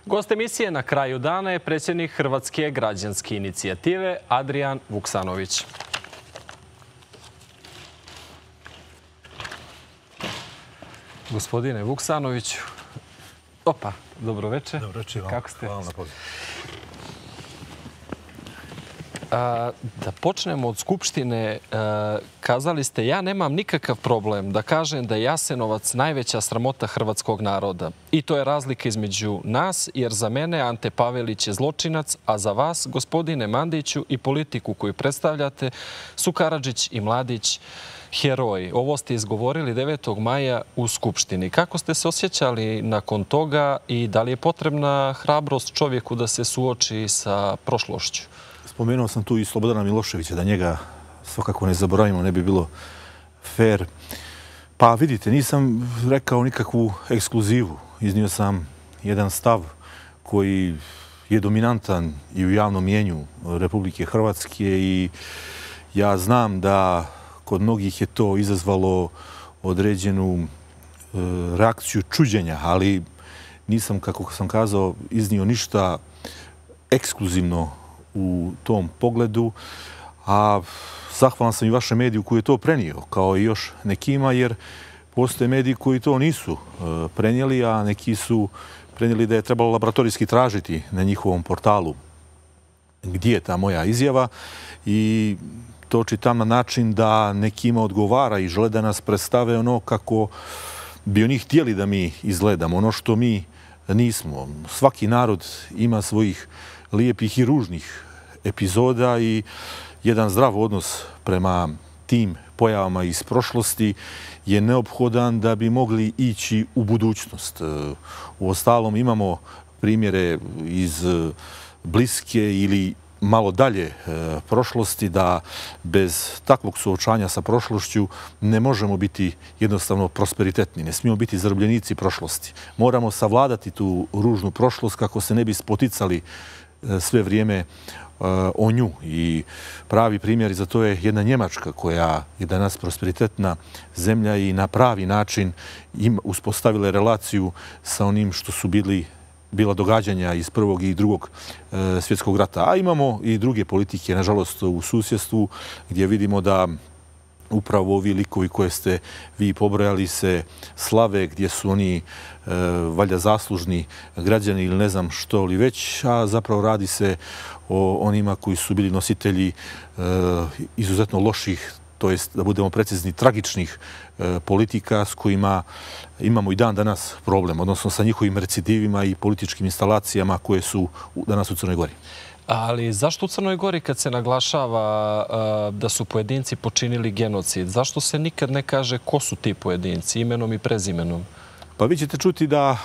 Gost emisije na kraju dana je predsjednik Hrvatske građanske inicijative Adrijan Vuksanović. Gospodine Vuksanoviću, dobro večer. Dobro večer vam. Kako ste? Hvala na pozivu. Da počnemo od Skupštine. Kazali ste, ja nemam nikakav problem da kažem da je Jasenovac najveća sramota hrvatskog naroda. I to je razlika između nas, jer za mene Ante Pavelić je zločinac, a za vas, gospodine Mandiću, i politiku koju predstavljate su Karadžić i Mladić heroji. Ovo ste izgovorili 9. maja u Skupštini. Kako ste se osjećali nakon toga i da li je potrebna hrabrost čovjeku da se suoči sa prošlošću? Spomenuo sam tu i Slobodana Miloševića, da njega svakako ne zaboravimo, ne bi bilo fair. Pa vidite, nisam rekao nikakvu ekskluzivu. Iznio sam jedan stav koji je dominantan i u javnom mjenju Republike Hrvatske i ja znam da kod mnogih je to izazvalo određenu reakciju čuđenja, ali nisam, kako sam kazao, iznio ništa ekskluzivno u tom pogledu, a zahvalan sam i vašem mediju koji je to prenio, kao i još nekima, jer postoje mediji koji to nisu prenijeli, a neki su prenijeli da je trebalo laboratorijski tražiti na njihovom portalu gdje je ta moja izjava i to čitam na način da nekima odgovara i žele da nas predstave ono kako bi oni htjeli da mi izgledamo, ono što mi nismo. Svaki narod ima svojih lijepih i ružnih epizoda i jedan zdrav odnos prema tim pojavama iz prošlosti je neophodan da bi mogli ići u budućnost. Uostalom imamo primjere iz bliske ili malo dalje prošlosti da bez takvog suočanja sa prošlošću ne možemo biti jednostavno prosperitetni. Ne smijemo biti zarobljenici prošlosti. Moramo savladati tu ružnu prošlost kako se ne bi spoticali sve vrijeme o nju. I pravi primjer za to je jedna Njemačka koja je danas prosperitetna zemlja i na pravi način uspostavila relaciju sa onim što su bila događanja iz Prvog i Drugog svjetskog rata. A imamo i druge politike, nažalost, u susjedstvu gdje vidimo da upravo ovi likovi koje ste vi pobrojali se slave, gdje su oni valjda zaslužni građani ili ne znam što li već, a zapravo radi se o onima koji su bili nositelji izuzetno loših, to jest, da budemo precizni, tragičnih politika s kojima imamo i dan danas problem, odnosno sa njihovim recidivima i političkim instalacijama koje su danas u Crnoj Gori. Ali zašto u Crnoj Gori kad se naglašava da su pojedinci počinili genocid, zašto se nikad ne kaže ko su ti pojedinci, imenom i prezimenom? Pa vi ćete čuti da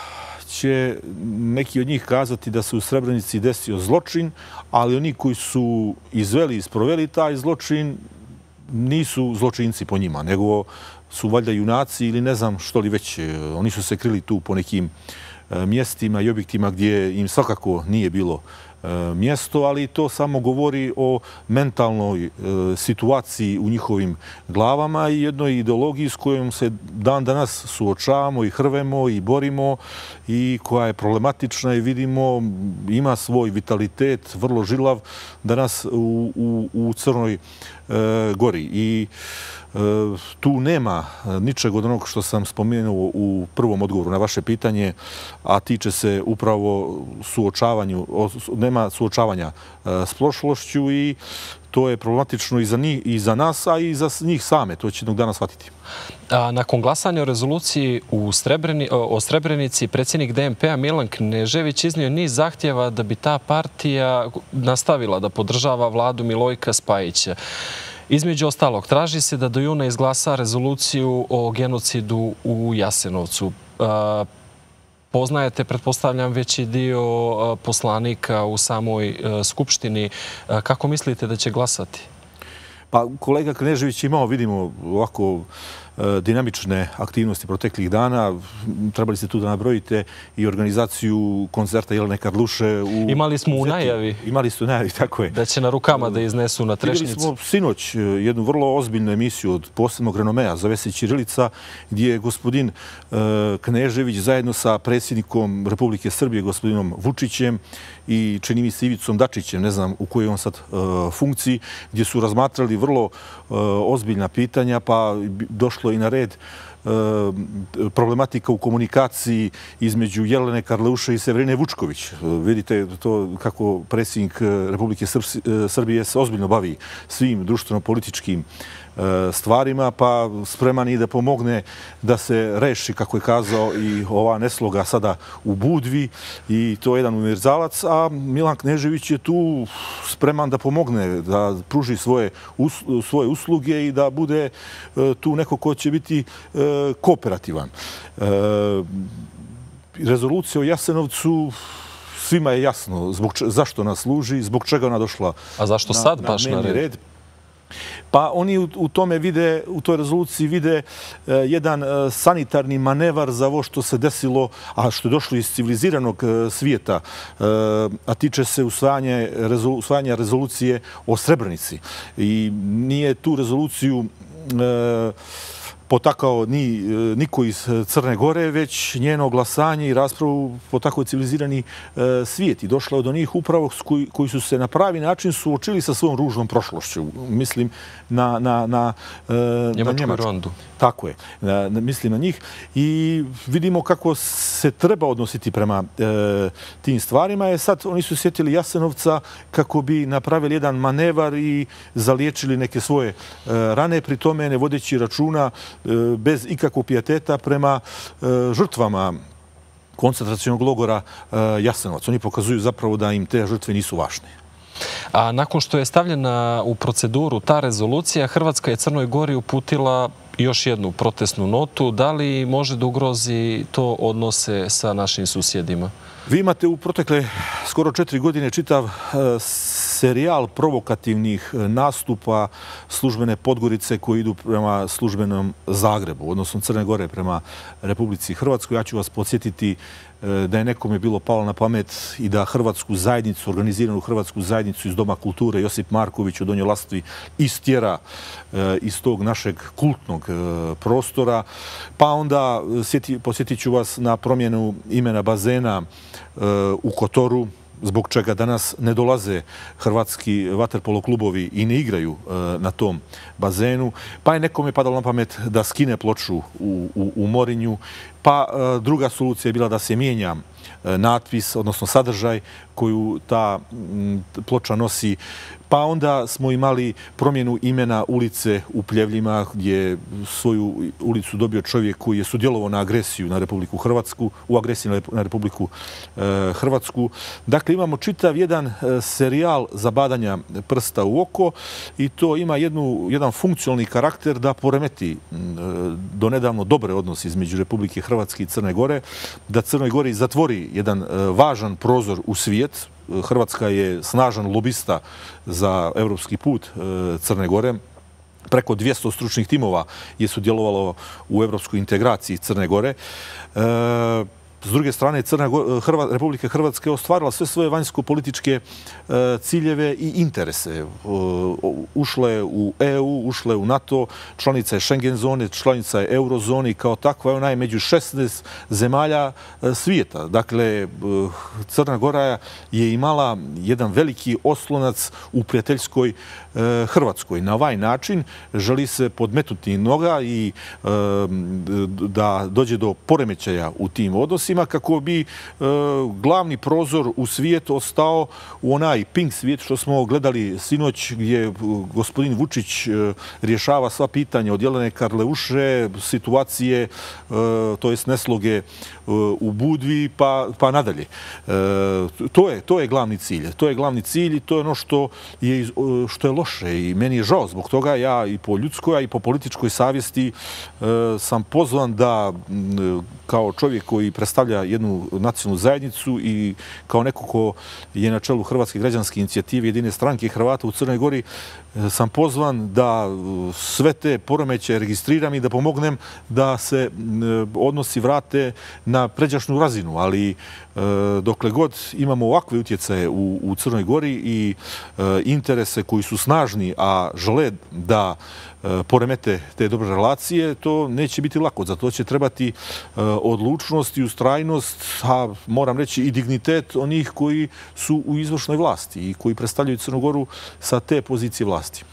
će neki od njih kazati da se u Srebrenici desio zločin, ali oni koji su izveli i sproveli taj zločin nisu zločinci po njima, nego su valjda junaci ili ne znam što li već. Oni su se krili tu po nekim mjestima i objektima gdje im svakako nije bilo mjesto, ali to samo govori o mentalnoj situaciji u njihovim glavama i jednoj ideologiji s kojom se dan danas suočavamo i hrvemo i borimo i koja je problematična i vidimo ima svoj vitalitet, vrlo žilav danas u Crnoj Gori. I tu nema ničeg od onog što sam spomenuo u prvom odgovoru na vaše pitanje, a tiče se upravo nema suočavanja s prošlošću i to je problematično i za nas, a i za njih same. To će jednog dana shvatiti. Nakon glasanja o rezoluciji o Srebrenici, predsjednik DNP-a Milan Knežević iznio niz zahtjeva da bi ta partija nastavila da podržava vladu Milojka Spajića. Između ostalog, traži se da do juna izglasa rezoluciju o genocidu u Jasenovcu. Poznajete, pretpostavljam, veći dio poslanika u samoj Skupštini. Kako mislite da će glasati? Pa kolega Knežević imao, vidimo, ovako dinamične aktivnosti proteklih dana. Trebali ste tu da nabrojite i organizaciju koncerta Jelene Karluše. Imali smo u najavi. Imali ste u najavi, tako je. Da će na rukama da iznesu na Trešnjicu. Vidjeli smo sinoć jednu vrlo ozbiljnu emisiju od posebnog renomea, zove se Ćirilica, gdje je gospodin Knežević zajedno sa predsjednikom Republike Srbije, gospodinom Vučićem i čini mi se Ivicom Dačićem, ne znam u kojoj on sad funkciji, gdje su razmatrali vrlo ozbiljna pitanja, pa došlo i na red problematika u komunikaciji između Jelene Karleuše i Severine Vučković. Vidite to kako predsjednik Republike Srbije se ozbiljno bavi svim društveno-političkim stvarima, pa spreman i da pomogne da se reši, kako je kazao, i ova nesloga sada u Budvi, i to je jedan univerzalac, a Milan Knežević je tu spreman da pomogne, da pruži svoje usluge i da bude tu neko ko će biti kooperativan. Rezolucija o Jasenovcu svima je jasno zašto ona služi, zbog čega ona došla. A zašto sad baš na red? Pa oni u tome vide, u toj rezoluciji vide jedan sanitarni manevar za ovo što se desilo, a što je došlo iz civiliziranog svijeta, a tiče se usvajanja rezolucije o Srebrenici. I nije tu rezoluciju potakao niko iz Crne Gore, već njeno glasanje i raspravu potakao civilizirani svijet. I došlo je do njih upravo koji su se na pravi način suočili sa svojom ružnom prošlošću. Mislim na Njemačku rondu. Tako je. Mislim na njih. I vidimo kako se treba odnositi prema tim stvarima. Sad oni su sjetili Jasenovca kako bi napravili jedan manevar i zaliječili neke svoje rane, pri tome ne vodeći računa bez ikakvog pijateta prema žrtvama koncentracionog logora Jasenovac. Oni pokazuju zapravo da im te žrtve nisu važne. A nakon što je stavljena u proceduru ta rezolucija, Hrvatska je Crnoj Gori uputila još jednu protestnu notu. Da li može da ugrozi to odnose sa našim susjedima? Vi imate u protekle skoro 4 godine čitav serijal provokativnih nastupa službene Podgorice koji idu prema službenom Zagrebu, odnosno Crne Gore prema Republici Hrvatskoj. Ja ću vas podsjetiti da je nekome bilo palo na pamet i da hrvatsku zajednicu, organiziranu hrvatsku zajednicu iz Doma kulture Josip Marković u Donjoj Lastvi istjera iz tog našeg kultnog prostora. Pa onda podsjetit ću vas na promjenu imena bazena u Kotoru, zbog čega danas ne dolaze hrvatski vaterpolo klubovi i ne igraju na tom bazenu. Pa je nekome padalo na pamet da skine ploču u Morinju. Pa druga solucija je bila da se mijenja natpis, odnosno sadržaj koju ta ploča nosi. Pa onda smo imali promjenu imena ulice u Pljevljima, gdje je svoju ulicu dobio čovjek koji je sudjelovao na agresiju na Republiku Hrvatsku, u agresiji na Republiku Hrvatsku. Dakle, imamo čitav jedan serijal zabadanja prsta u oko i to ima jedan funkcionalni karakter da poremeti donedavno dobre odnose između Republike Hrvatske i Crne Gore, da Crnoj Gori zatvori jedan važan prozor u svijet. Hrvatska je snažan lobista za evropski put Crne Gore. Preko 200 stručnih timova je sudjelovalo u evropskoj integraciji Crne Gore. S druge strane, Republika Hrvatska je ostvarila sve svoje vanjsko-političke ciljeve i interese. Ušla je u EU, ušla je u NATO, članica je Schengen zone, članica je eurozone i kao takva ona je među 16 zemalja svijeta. Dakle, Crna Gora je imala jedan veliki oslonac u prijateljskoj Hrvatskoj. Na ovaj način želi se podmetnuti noga i da dođe do poremećaja u tim odnosima kako bi glavni prozor u svijet ostao u onaj pink svijet što smo gledali sinoć, gdje gospodin Vučić rješava sva pitanja od Jelene Karleuše, situacije, to jest nesloge u Budvi, pa nadalje. To je glavni cilj. To je glavni cilj i to je ono što je loše i meni je žao zbog toga. Ja i po ljudskoj, a i po političkoj savjesti sam pozvan da kao čovjek koji predstavlja predstavlja jednu nacionalnu zajednicu i kao neko ko je na čelu Hrvatske građanske inicijative Jedine stranke Hrvata u Crnoj Gori sam pozvan da sve te poremećaje registriram i da pomognem da se odnosi vrate na pređašnju razinu, ali dokle god imamo ovakve utjecaje u Crnoj Gori i interese koji su snažni, a žele da poremete te dobre relacije, to neće biti lako. Za to će trebati odlučnost i ustrajnost, a moram reći i dignitet onih koji su u izvršnoj vlasti i koji predstavljaju Crnu Goru sa te pozicije vlasti.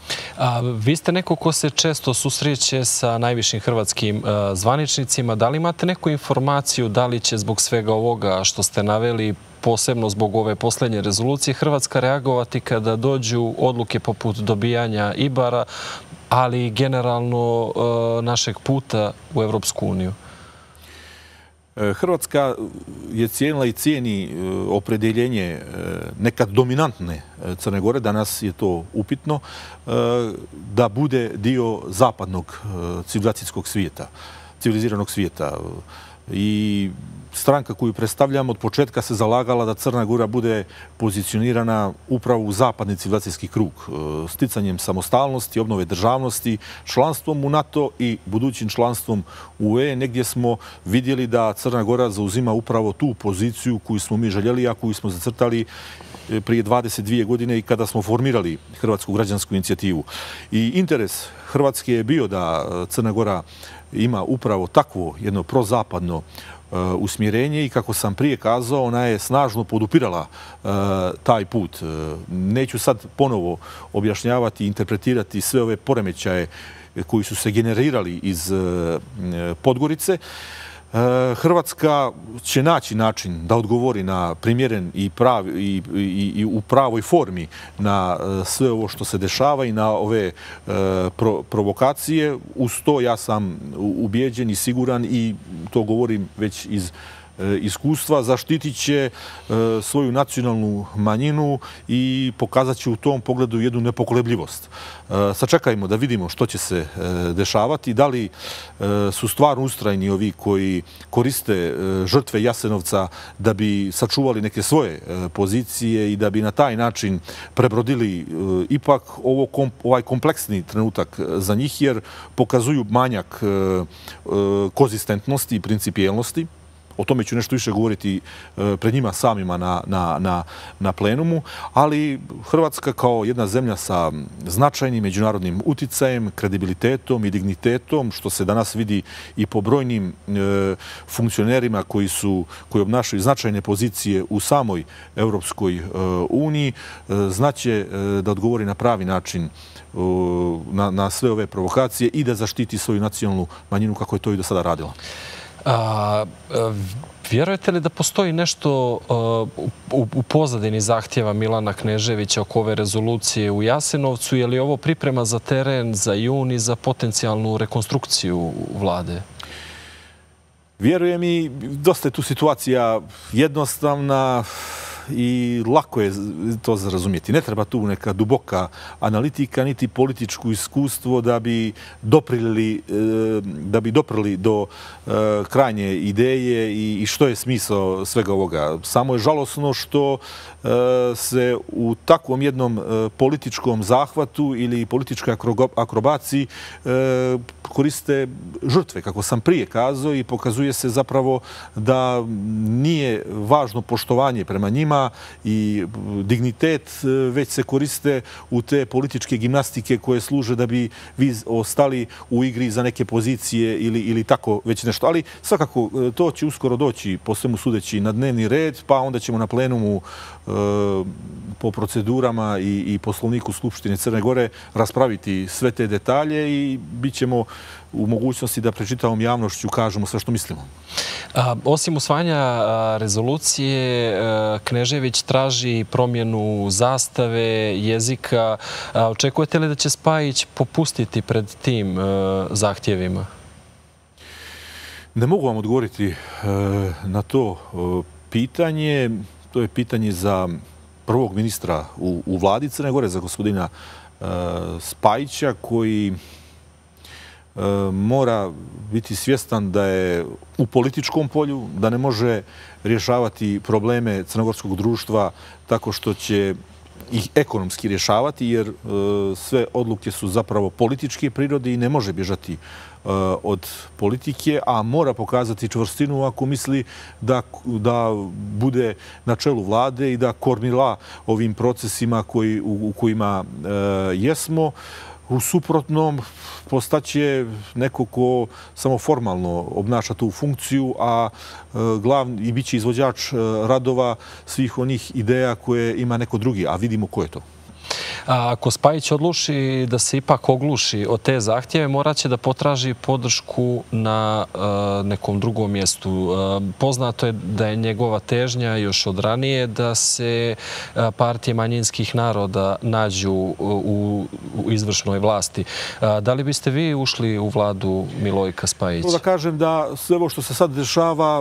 Vi ste neko ko se često susreće sa najvišim hrvatskim zvaničnicima. Da li imate neku informaciju da li će zbog svega ovoga što ste naveli, posebno zbog ove posljednje rezolucije, Hrvatska reagovati kada dođu odluke poput dobijanja Ibara, ali i generalno našeg puta u Evropsku uniju? Hrvatska je cijenila i cijeni opredeljenje nekad dominantne Crne Gore, danas je to upitno, da bude dio zapadnog civilizacijskog svijeta, civiliziranog svijeta. I stranka koju predstavljam od početka se zalagala da Crna Gora bude pozicionirana upravo u zapadni civilizacijski krug, sticanjem samostalnosti, obnove državnosti, članstvom u NATO i budućim članstvom u UE. Negdje smo vidjeli da Crna Gora zauzima upravo tu poziciju koju smo mi željeli, a koju smo zacrtali prije 22 godine i kada smo formirali Hrvatsku građansku inicijativu. I interes Hrvatske je bio da Crna Gora ima upravo takvo jedno prozapadno usmjerenje i kako sam prije kazao, ona je snažno podupirala taj put. Neću sad ponovo objašnjavati i interpretirati sve ove poremećaje koji su se generirali iz Podgorice. Hrvatska će naći način da odgovori na primjeren i u pravoj formi na sve ovo što se dešava i na ove provokacije. Uz to ja sam ubijeđen i siguran i to govorim već iz iskustva, zaštitit će svoju nacionalnu manjinu i pokazat će u tom pogledu jednu nepokolebljivost. Sačekajmo da vidimo što će se dešavati, da li su stvarno ustrajni ovi koji koriste žrtve Jasenovca da bi sačuvali neke svoje pozicije i da bi na taj način prebrodili ipak ovaj kompleksni trenutak za njih, jer pokazuju manjak konzistentnosti i principijelnosti. O tome ću nešto više govoriti pred njima samima na plenumu, ali Hrvatska kao jedna zemlja sa značajnim međunarodnim uticajem, kredibilitetom i dignitetom, što se danas vidi i po brojnim funkcionerima koji obnašaju značajne pozicije u samoj Europskoj uniji, znaće da odgovori na pravi način na sve ove provokacije i da zaštiti svoju nacionalnu manjinu kako je to i do sada radila. Vjerujete li da postoji nešto u pozadini zahtjeva Milana Kneževića oko ove rezolucije u Jasenovcu? Je li ovo priprema za teren, za jun i za potencijalnu rekonstrukciju vlade? Vjerujem i dosta je tu situacija jednostavna i lako je to za razumjeti. Ne treba tu neka duboka analitika, niti političko iskustvo da bi doprli do krajnje ideje i što je smisao svega ovoga. Samo je žalosno što se u takvom jednom političkom zahvatu ili političkoj akrobaciji koriste žrtve, kako sam prije kazao, i pokazuje se zapravo da nije važno poštovanje prema njima i dignitet, već se koriste u te političke gimnastike koje služe da bi vi ostali u igri za neke pozicije ili tako već nešto. Ali svakako to će uskoro doći, po svemu sudeći, na dnevni red, pa onda ćemo na plenumu po procedurama i poslovniku Skupštine Crne Gore raspraviti sve te detalje i bit ćemo u mogućnosti da pred čitavom javnošću kažemo sve što mislimo. Osim usvajanja rezolucije, Knežević traži promjenu zastave, jezika. Očekujete li da će Spajić popustiti pred tim zahtjevima? Ne mogu vam odgovoriti na to pitanje. To je pitanje za prvog ministra u vladi Crne Gore, za gospodina Spajića, koji mora biti svjestan da je u političkom polju, da ne može rješavati probleme crnogorskog društva tako što će ih ekonomski rješavati, jer sve odluke su zapravo političke prirode i ne može bježati od politike, a mora pokazati čvrstinu ako misli da bude na čelu vlade i da kormila ovim procesima u kojima jesmo. U suprotnom, postaće neko ko samo formalno obnaša tu funkciju, a glavni i bit će izvođač radova svih onih ideja koje ima neko drugi, a vidimo ko je to. Ako Spajić odluči da se ipak ogluši od te zahtjeve, morat će da potraži podršku na nekom drugom mjestu. Poznato je da je njegova težnja još od ranije da se partije manjinskih naroda nađu u izvršnoj vlasti. Da li biste vi ušli u vladu Milojka Spajića? Da kažem da sve ovo što se sad dešava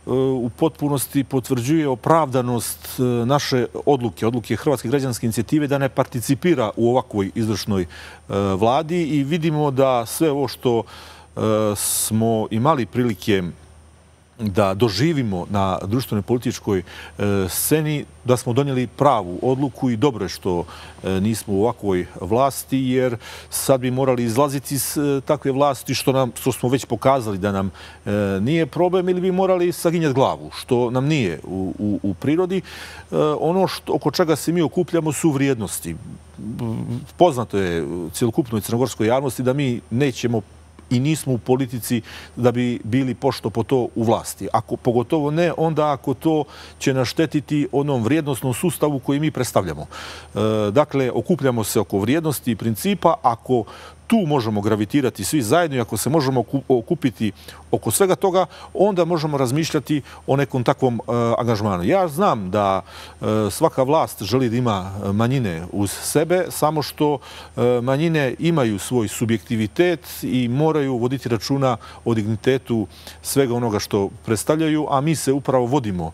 u potpunosti potvrđuje opravdanost naše odluke Hrvatske građanske inicijative da ne participira u ovakvoj izvršnoj vladi i vidimo da sve ovo što smo imali prilike da doživimo na društvenoj političkoj sceni, da smo donijeli pravu odluku i dobro je što nismo u ovakvoj vlasti, jer sad bi morali izlaziti iz takve vlasti, što smo već pokazali da nam nije problem, ili bi morali saginjati glavu, što nam nije u prirodi. Ono oko čega se mi okupljamo su vrijednosti. Poznato je cjelokupnoj crnogorskoj javnosti da mi nećemo i nismo u politici da bi bili pošto po to u vlasti. Pogotovo ne onda ako to će naštetiti onom vrijednosnom sustavu koji mi predstavljamo. Dakle, okupljamo se oko vrijednosti i principa. Ako tu možemo gravitirati svi zajedno i ako se možemo okupiti oko svega toga, onda možemo razmišljati o nekom takvom angažmanu. Ja znam da svaka vlast želi da ima manjine uz sebe, samo što manjine imaju svoj subjektivitet i moraju voditi računa o dignitetu svega onoga što predstavljaju, a mi se upravo vodimo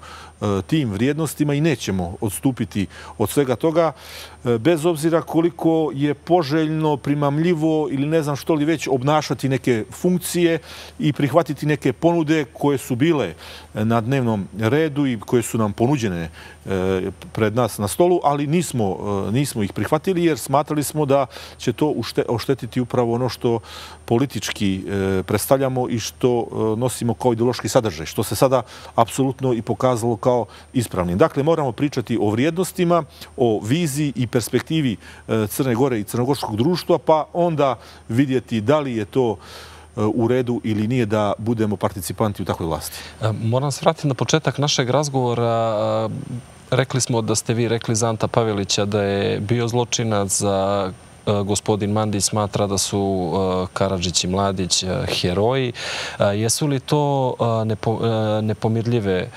tim vrijednostima i nećemo odstupiti od svega toga, bez obzira koliko je poželjno, primamljivo ili ne znam što li već obnašati neke funkcije i prihvatiti neke ponude koje su bile na dnevnom redu i koje su nam ponuđene pred nas na stolu, ali nismo ih prihvatili jer smatrali smo da će to oštetiti upravo ono što politički predstavljamo i što nosimo kao ideološki sadržaj, što se sada apsolutno i pokazalo kao ispravnim. Dakle, moramo pričati o vrijednostima, o viziji i perspektivi Crne Gore i crnogorskog društva, pa onda vidjeti da li je to u redu ili nije da budemo participanti u takvoj vlasti. Moram se vratiti na početak našeg razgovora. Rekli smo da ste vi rekli za Anta Pavelića da je bio zločinac, za gospodin Mandić smatra da su Karadžić i Mladić heroji. Jesu li to nepomirljive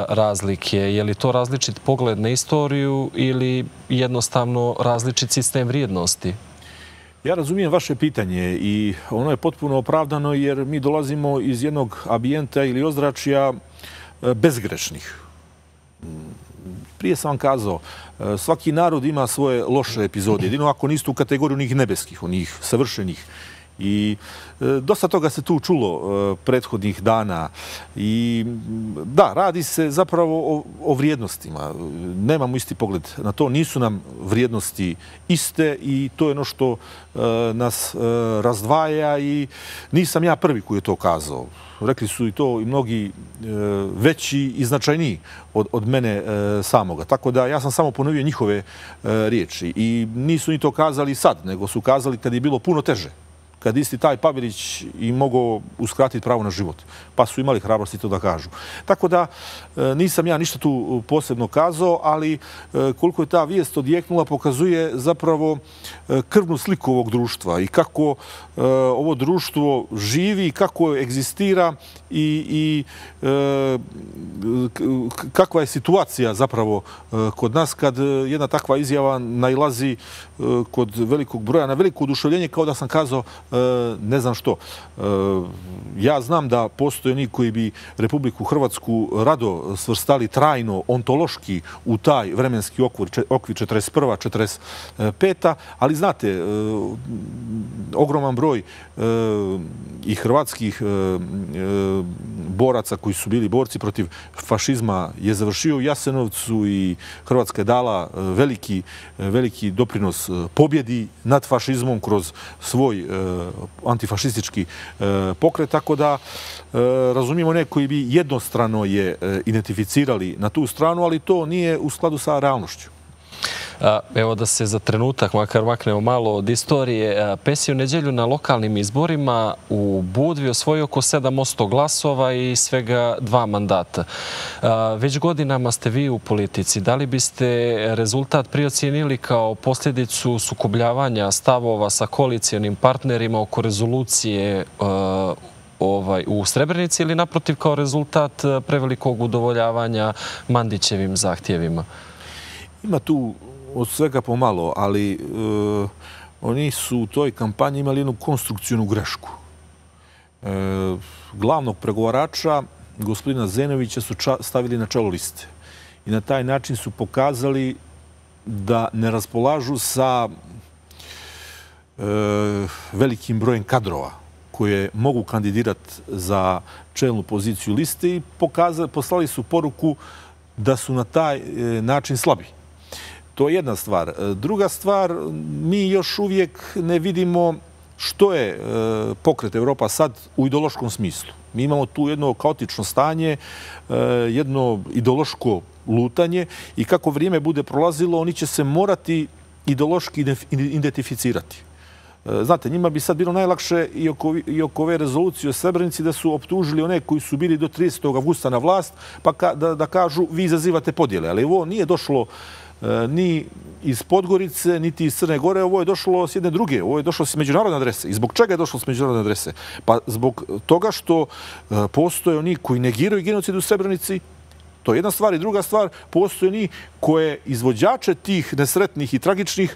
razlike? Je li to različit pogled na istoriju ili jednostavno različit sistem vrijednosti? Ja razumijem vaše pitanje i ono je potpuno opravdano jer mi dolazimo iz jednog ambijenta ili ozračja bezgrešnih. Prije sam vam kazao, svaki narod ima svoje loše epizode, jedino ako niste u kategoriju onih nebeskih, onih savršenih. I dosta toga se tu čulo prethodnih dana. I da, radi se zapravo o vrijednostima. Nemamo isti pogled na to. Nisu nam vrijednosti iste i to je ono što nas razdvaja i nisam ja prvi koji je to kazao. Rekli su i to i mnogi veći i značajniji od mene samoga. Tako da ja sam samo ponovio njihove riječi. I nisu ni to kazali sad, nego su kazali kad je bilo puno teže. Kad isti taj Pavelić im mogao uskratiti pravo na život. Pa su imali hrabrosti to da kažu. Tako da nisam ja ništa tu posebno kazao, ali koliko je ta vijest odjeknula pokazuje zapravo krvnu sliku ovog društva i kako ovo društvo živi i kako egzistira i kakva je situacija zapravo kod nas kad jedna takva izjava nailazi kod velikog broja na veliko oduševljenje, kao da sam kazao ne znam što. Ja znam da postoje oni koji bi Republiku Hrvatsku rado svrstali trajno, ontološki u taj vremenski okvir 41. 45. Ali znate, ogroman broj i hrvatskih boraca koji su bili borci protiv fašizma je završio u Jasenovcu i Hrvatska je dala veliki doprinos pobjedi nad fašizmom kroz svoj antifašistički pokret, tako da razumijemo one koji bi jednostrano je identificirali na tu stranu, ali to nije u skladu sa realnošću. Evo da se za trenutak makar maknemo malo od istorije. Pesi u nedjelju na lokalnim izborima u Budvi osvojio oko 7% glasova i svega 2 mandata. Već godinama ste vi u politici. Da li biste rezultat priocijenili kao posljedicu sukobljavanja stavova sa koalicijonim partnerima oko rezolucije u Srebrenici ili naprotiv kao rezultat prevelikog udovoljavanja Mandićevim zahtjevima? Ima tu od svega pomalo, ali oni su u toj kampanji imali jednu konstrukcijnu grešku. Glavnog pregovarača, gospodina Zenovića, su stavili na čelo liste. I na taj način su pokazali da ne raspolažu sa velikim brojem kadrova koje mogu kandidirati za čelnu poziciju liste i poslali su poruku da su na taj način slabi. To je jedna stvar. Druga stvar, mi još uvijek ne vidimo što je pokret Evropa sad u ideološkom smislu. Mi imamo tu jedno kaotično stanje, jedno ideološko lutanje i kako vrijeme bude prolazilo, oni će se morati ideološki identificirati. Znate, njima bi sad bilo najlakše i oko ove rezolucije o Srebrenici da su optužili one koji su bili do 30. avgusta na vlast, pa da kažu vi izazivate podjele. Ali ovo nije došlo ni iz Podgorice, niti iz Crne Gore, ovo je došlo s jedne druge, ovo je došlo s međunarodne adrese. I zbog čega je došlo s međunarodne adrese? Pa zbog toga što postoje oni koji negiraju genocid u Srebrenici, to je jedna stvar. I druga stvar, postoje oni koje izvođače tih nesretnih i tragičnih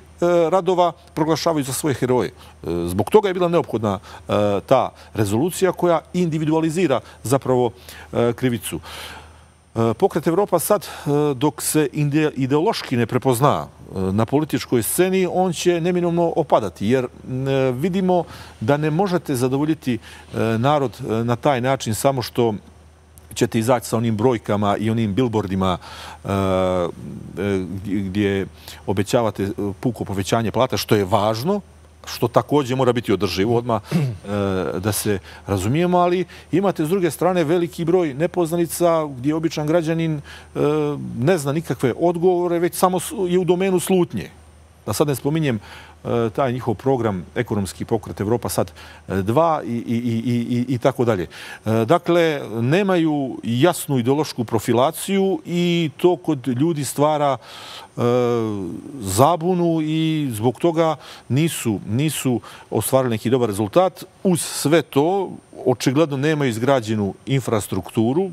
radova proglašavaju za svoje heroje. Zbog toga je bila neophodna ta rezolucija koja individualizira zapravo krivicu. Pokret Evropa sad, dok se ideološki ne prepozna na političkoj sceni, on će neminovno opadati, jer vidimo da ne možete zadovoljiti narod na taj način samo što ćete izaći sa onim brojkama i onim billboardima gdje obećavate puko povećanje plata, što je važno, što također mora biti održivo, odmah da se razumijemo, ali imate s druge strane veliki broj nepoznanica gdje običan građanin ne zna nikakve odgovore, već samo je u domenu slutnje. Da sad ne spominjem taj njihov program Ekonomski pokret Evropa sad 2 i tako dalje. Dakle, nemaju jasnu ideološku profilaciju i to kod ljudi zabunu i zbog toga nisu ostvarili neki dobar rezultat. Uz sve to, očigledno nemaju izgrađenu infrastrukturu,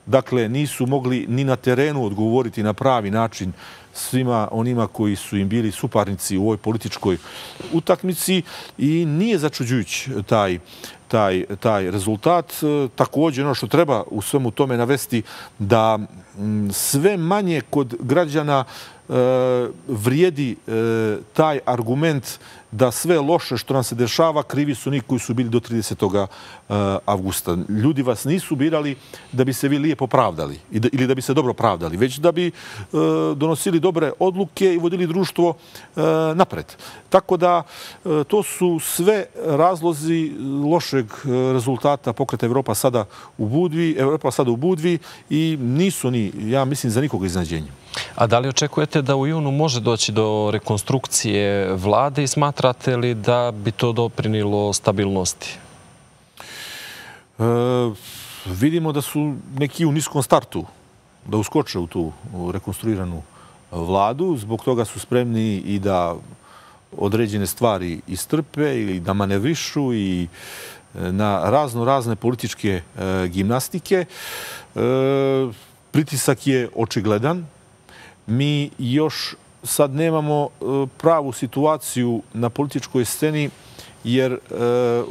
dakle, nisu mogli ni na terenu odgovoriti na pravi način svima onima koji su im bili suparnici u ovoj političkoj utakmici i nije začuđujući taj rezultat. Također, ono što treba u svemu tome navesti, da sve manje kod građana vrijedi taj argument da sve loše što nam se dešava krivi su oni koji su bili do 30. avgusta. Ljudi vas nisu birali da bi se vi lijepo pravdali ili da bi se dobro pravdali, već da bi donosili dobre odluke i vodili društvo napred. Tako da to su sve razlozi lošeg rezultata pokreta Evropa sada u Budvi i nisu ni, ja mislim, za nikoga iznenađenje. A da li očekujete da u junu može doći do rekonstrukcije vlade i smatrate li da bi to doprinilo stabilnosti? Vidimo da su neki u niskom startu da uskoče u tu rekonstruiranu vladu. Zbog toga su spremni i da određene stvari istrpe ili da manevrišu i na razne političke gimnastike. Pritisak je očigledan. Mi još sad nemamo pravu situaciju na političkoj sceni, jer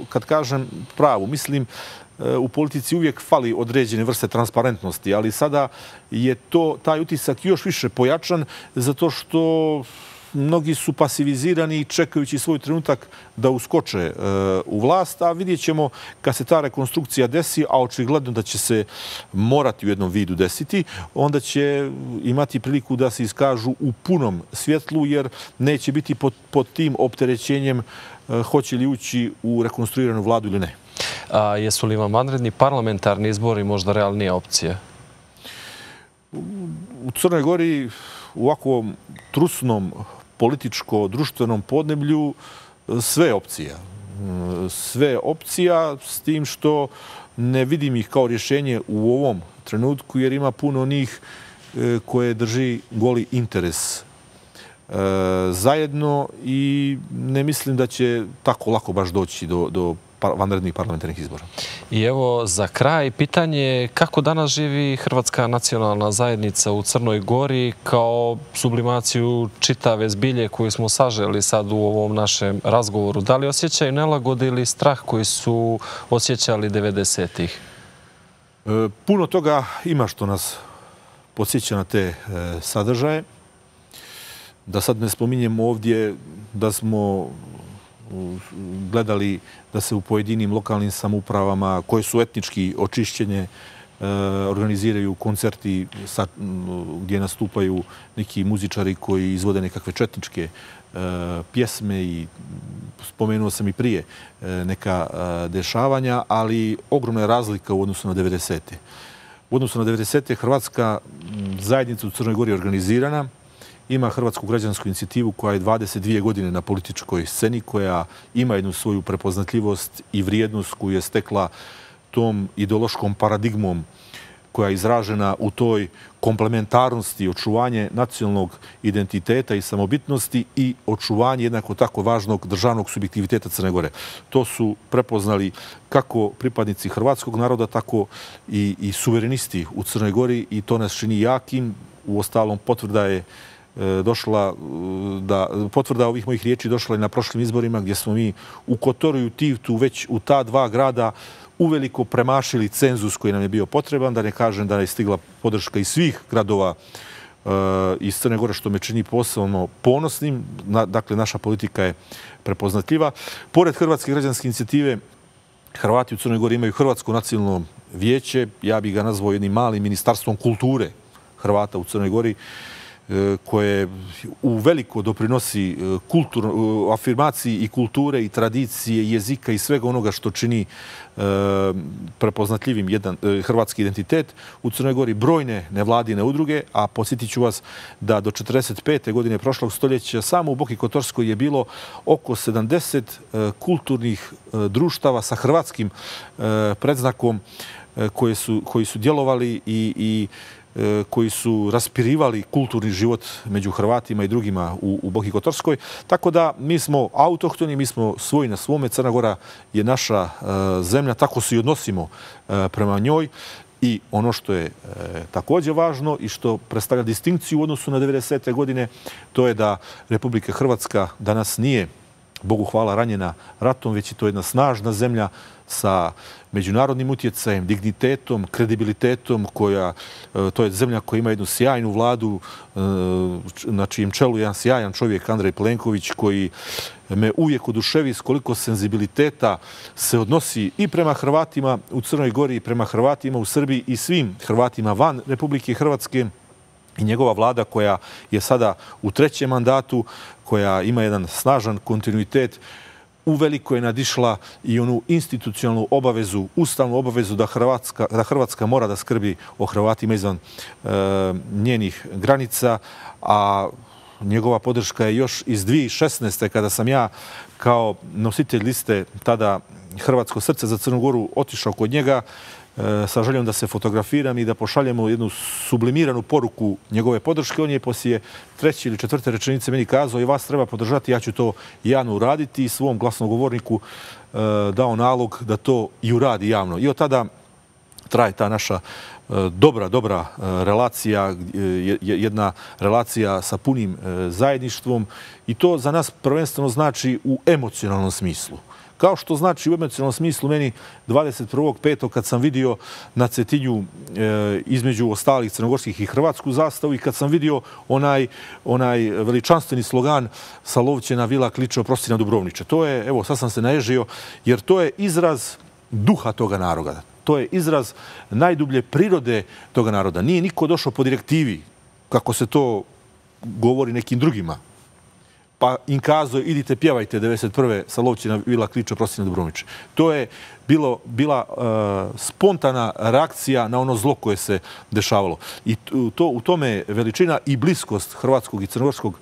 kad kažem pravu, mislim u politici uvijek fali određene vrste transparentnosti, ali sada je taj utisak još više pojačan zato što mnogi su pasivizirani čekajući svoj trenutak da uskoče u vlast, a vidjet ćemo kad se ta rekonstrukcija desi, a očigledno da će se morati u jednom vidu desiti, onda će imati priliku da se iskažu u punom svjetlu, jer neće biti pod tim opterećenjem hoće li ući u rekonstruiranu vladu ili ne. A jesu li vam vanredni parlamentarni izbori možda realnija opcija? U Crnoj Gori u ovakvom trusnom političko-društvenom podneblju sve opcija. Sve opcija s tim što ne vidim ih kao rješenje u ovom trenutku jer ima puno onih koje drži goli interes zajedno i ne mislim da će tako lako baš doći do vanrednih parlamentarnih izbora. I evo za kraj pitanje kako danas živi Hrvatska nacionalna zajednica u Crnoj Gori kao sublimaciju čitave zbilje koju smo saželi sad u ovom našem razgovoru. Da li osjećaju nelagode ili strah koji su osjećali 90-ih? Puno toga ima što nas podsjeća na te sadržaje. Da sad ne spominjem ovdje da smo gledali da se u pojedinim lokalnim samoupravama koje su etnički očišćene organiziraju koncerti gdje nastupaju neki muzičari koji izvode nekakve četničke pjesme i spomenuo sam i prije neka dešavanja, ali ogromna je razlika u odnosu na 90. U odnosu na 90. Hrvatska zajednica u Crnoj Gori je organizirana. Ima Hrvatsku građansku inicijativu koja je 22 godine na političkoj sceni, koja ima jednu svoju prepoznatljivost i vrijednost koju je stekla tom ideološkom paradigmom koja je izražena u toj komplementarnosti, očuvanje nacionalnog identiteta i samobitnosti i očuvanje jednako tako važnog državnog subjektiviteta Crne Gore. To su prepoznali kako pripadnici hrvatskog naroda, tako i suverenisti u Crnoj Gori i to nas čini jakim. Uostalom, potvrda ovih mojih riječi došla je na prošlim izborima gdje smo mi u Kotoru i u Tivtu već u ta dva grada uveliko premašili cenzus koji nam je bio potreban, da ne kažem da je stigla podrška iz svih gradova iz Crne Gore, što me čini posebno ponosnim. Dakle, naša politika je prepoznatljiva. Pored Hrvatske građanske inicijative, Hrvati u Crnoj Gori imaju Hrvatsko nacionalno vijeće, ja bih ga nazvao jednim malim ministarstvom kulture Hrvata u Crnoj Gori, koje u veliko doprinosi afirmaciji i kulture i tradicije, jezika i svega onoga što čini prepoznatljivim jedan hrvatski identitet. U Crnoj Gori brojne nevladine udruge, a podsjetit ću vas da do 45. godine prošlog stoljeća samo u Boki Kotorskoj je bilo oko 70 kulturnih društava sa hrvatskim predznakom koji su djelovali i koji su raspirivali kulturni život među Hrvatima i drugima u Boki Kotorskoj. Tako da mi smo autohtoni, mi smo svoji na svome. Crna Gora je naša zemlja, tako se i odnosimo prema njoj. I ono što je također važno i što predstavlja distinkciju u odnosu na 90. godine, to je da Republika Hrvatska danas nije, Bogu hvala, ranjena ratom, već je to jedna snažna zemlja sa međunarodnim utjecajem, dignitetom, kredibilitetom, to je zemlja koja ima jednu sjajnu vladu, na čijem čelu je jedan sjajan čovjek, Andrej Plenković, koji me uvijek oduševi s koliko senzibiliteta se odnosi i prema Hrvatima u Crnoj Gori, i prema Hrvatima u Srbiji i svim Hrvatima van Republike Hrvatske. I njegova vlada koja je sada u 3. mandatu, koja ima jedan snažan kontinuitet, uveliko je nadišla i onu institucionalnu obavezu, ustavnu obavezu da Hrvatska mora da skrbi o Hrvatima izvan njenih granica, a njegova podrška je još iz 2016. kada sam ja kao nositelj liste tada Hrvatsko srce za Crnu Goru otišao kod njega sa željom da se fotografiram i da pošaljemo jednu sublimiranu poruku njegove podrške. On je poslije 3. ili 4. rečenice meni kazao i vas treba podržati, ja ću to javno uraditi i svom glasnogovorniku dao nalog da to i uradi javno. I od tada traje ta naša dobra relacija, jedna relacija sa punim zajedništvom i to za nas prvenstveno znači u emocionalnom smislu. Kao što znači u emocionalnom smislu meni 21.5. kad sam vidio na Cetinju između ostalih crnogorskih i hrvatsku zastavu i kad sam vidio onaj veličanstveni slogan sa Lovćena vila kliče oprosti na Dubrovniče. To je, evo, sad sam se naježio, jer to je izraz duha toga naroda. To je izraz najdublje prirode toga naroda. Nije niko došao po direktivi, kako se to govori nekim drugima. Pa im kazao, idite pjevajte 91. sa Lovćena vila kliče oprosti na Dubrovniče. To je bila spontana reakcija na ono zlo koje se dešavalo. I u tome je veličina i bliskost hrvatskog i crnogorskog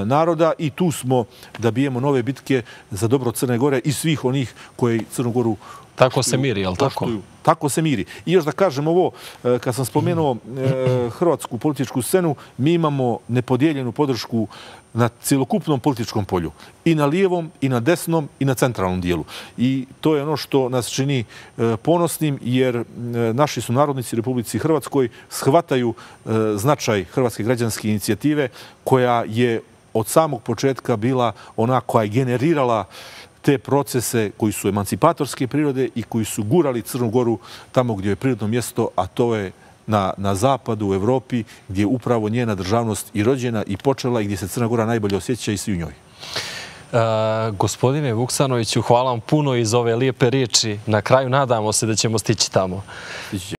naroda i tu smo da bijemo nove bitke za dobro Crne Gore i svih onih koji Crnu Goru tako se miri, je li tako? Tako se miri. I još da kažem ovo, kad sam spomenuo hrvatsku političku scenu, mi imamo nepodijeljenu podršku na cjelokupnom političkom polju. I na lijevom, i na desnom, i na centralnom dijelu. I to je ono što nas čini ponosnim, jer naši sunarodnici u Republici Hrvatskoj shvataju značaj Hrvatske građanske inicijative, koja je od samog početka bila ona koja je generirala te procese koji su emancipatorske prirode i koji su gurali Crnu Goru tamo gdje je prirodno mjesto, a to je na zapadu, u Evropi, gdje je upravo njena državnost i rođena i počela i gdje se Crna Gora najbolje osjeća i svi u njoj. Gospodine Vuksanoviću, hvala vam puno iz ove lijepe riječi. Na kraju nadamo se da ćemo stići tamo.